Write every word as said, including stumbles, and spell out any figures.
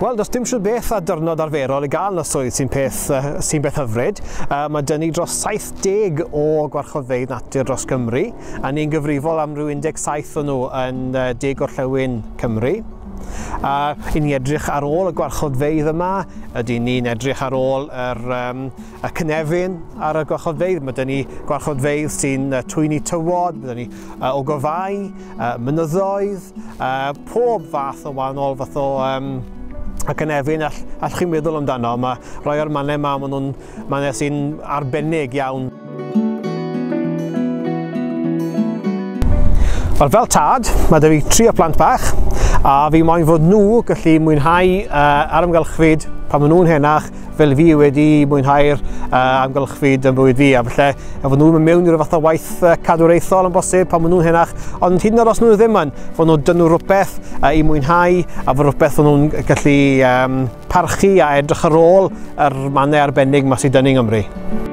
Wel, does dim siwr beth a dyrnod arferol i gael yn y swydd sy'n peth, uh, sy'n beth hyfryd. Uh, mae dyn ni dros saith deg o gwarchodfeydd natur dros Gymru, a ni'n gyfrifol am ryw un deg saith o nhw yn uh, De Gorllewin Cymru. Uh, I ni edrych ar ôl y gwarchodfeydd yma, ydy ni'n edrych ar ôl yr, um, y cynefin ar y gwarchodfeydd. Mae dyn ni gwarchodfeydd sy'n uh, twyni tywod, mae dyn ni uh, ogofau, uh, mynyddoedd, uh, pob fath o wahanol fath o um, y cynefin all, all chi'n meddwl amdano. Mae rhai o'r mannau yma, maen nhw'n mannau sy'n arbennig iawn. Wel, fel tad, mae 'da fi tri o plant bach, a fi moyn fod nhw gallu mwynhau uh, ar amgylchfyd pan maen nhw'n henach, fel fi wedi mwynhau'r uh, amgylchfyd yn bywyd fi, a falle fod nhw'n mynd mewn i ryw fath o waith uh, cadwraethol yn bosib pan maen nhw'n henach, ond hyd yn oed os nhw ddim yn, fod nhw dyn nhw rhywbeth uh, i mwynhau, a fod rhywbeth fod nhw'n gallu um, parchu a edrych ar ôl yr mannau arbennig yma sydd dyn ni yng Nghymru.